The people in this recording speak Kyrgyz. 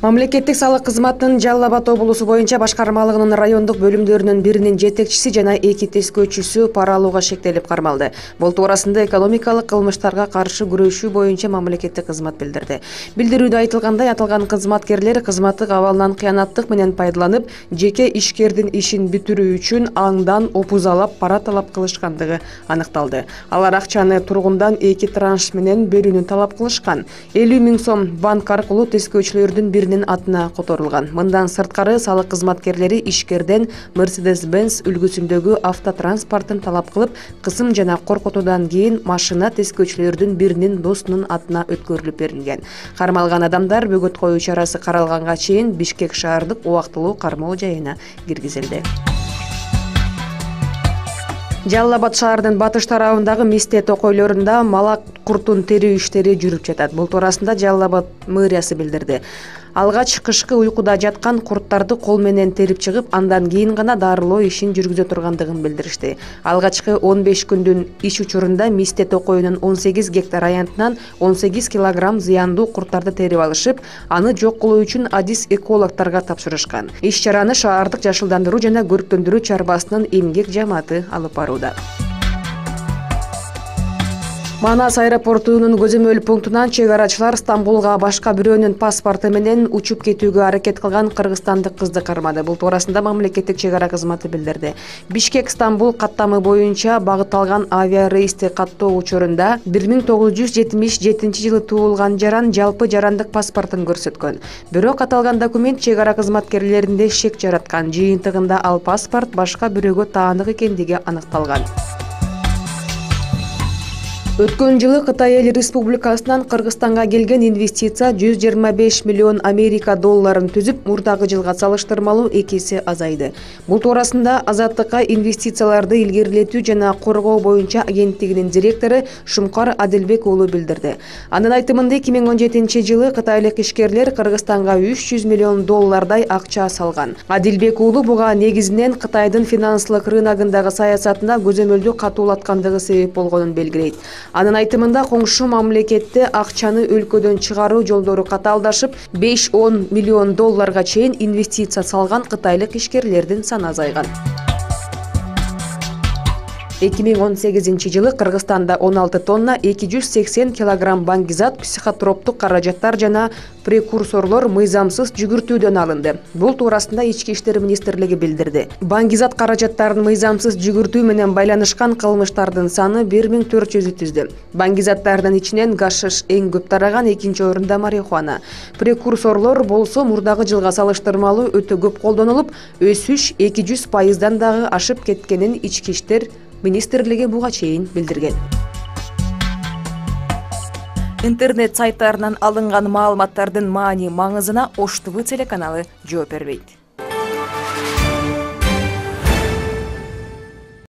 Мамлекеттик салык кызматынын Жалал Абад облусу боюнча башкармалыгынын райондук бөлүмдөрүнүн биринин жетекчиси жана 2 тескөөчүсү пара алууга шектелип кармалды. Бул туурасында экономикалык кылмыштарга каршы күрөшүү боюнча мамлекеттик кызмат билдирди. Билдирүүдө айтылгандай, аталган кызматкерлер кызматтык абалынан кыянаттык менен пайдаланып, жеке ишкердин ишин бүтүрүү үчүн аңдан опузалап пара талап кылышкандыгы аныкталды. Алар акчаны тургундан 2 транш менен берүүнү талап кылышкан. 50 000 сом банк аркылуу тескөөчүлөрдүн биринин атына которулган. Мындан сырткары салык кызматкерлери ишкерден Mercedes-Benz үлгүсүндөгү автотранспортун талап кылып, кысым жана коркутуудан кийин машина тескөөчүлөрдүн биринин досунун атына өткөрүлүп берилген. Кармалган адамдар бөгөт коюу чарасы каралганга чейин Бишкек шаардык убактылуу кармоо жайына киргизилди. Жалал Абад шаарынын батыш тарабындагы Мисте токойлорунда малак куртун терүү иштери жүрүп жатат. Бул туурасында Жалал Абад мэриясы билдирди. Алгач кышкы уйкуда жаткан курттарды кол менен терип чыгып, андан кийин гана дарылоо ишин жүргүзө тургандыгын билдиришти. Алгачкы 15 күндүн иш учурунда Мисте токойунун 18 гектар аянтынан 18 килограмм зыяндуу курттарды терип алышып, аны жок кылуу үчүн адис экологторго тапшырышкан. Иш-чараны шаардык жашылдандыруу жана көрктөндүрүү чарбасынын эмгек жамааты алып барууда. Манас аэропортунун көзөмөл пунктунан чек арачылар Стамбулга башка бирөөнүн паспорту менен учуп кетүүгө аракет кылган кыргызстандык кызды кармады. Бул туурасында мамлекеттик чек ара кызматы билдирди. Бишкек-Стамбул каттамы боюнча багытталган авиарейсти каттоо учурунда 1977 жылы туулган жаран жалпы жарандык паспортун көрсөткөн. Бирок аталган документ чек ара кызматкерлеринде шек жараткан. Жыйынтыгында ал паспорт башка бирөөгө таандык экендиги аныкталган. Өткөн жылы Кытай Эл Республикасынан Кыргызстанга келген инвестиция 125 миллион Америка долларын түзүп, мурдагы жылга салыштырмалуу 2 эсе азайды. Бул туурасында Азаттыкка инвестицияларды илгерилетүү жана коргоо боюнча агенттигинин директору Шумкар Адилбек уулу билдирди. Анын айтымында 2017 жылы кытайлык ишкерлер Кыргызстанга 300 миллион доллардай акча салган. Адилбек уулу буга негизинен Кытайдын финансылык рыногундагы саясатына көзөмөлдү катуулаткандыгы себеп болгонун белгилейт. Анын айтымында коңшу мамлекетте акчаны өлкөдөн чыгаруу жолдору катаалдашып, 5-10 миллион долларга чейин инвестиция салган кытайлык ишкерлердин саны азайган. 2018 жылы Кыргызстанда 16 тонна 280 килограмм баңгизат, психотроптук каражаттар жана прекурсорлор мыйзамсыз жүгүртүүдөн алынды. Бул туурасында Ички иштер министрлиги билдирди. Баңгизат каражаттарын мыйзамсыз жүгүртүү менен байланышкан кылмыштардын саны 1400 түздү. Баңгизаттардын ичинен гашиш эң көп тараган, экинчи орунда марихуана. Прекурсорлор болсо мурдагы жылга салыштырмалуу өтө көп колдонулуп, өсүш 200% дагы ашып кеткенин Ички иштер министрлиги буга чейин билдирген. Интернет сайттарынан алынган маалыматтардын маани маңызына Ош ТВ телеканалы жооп бербейт.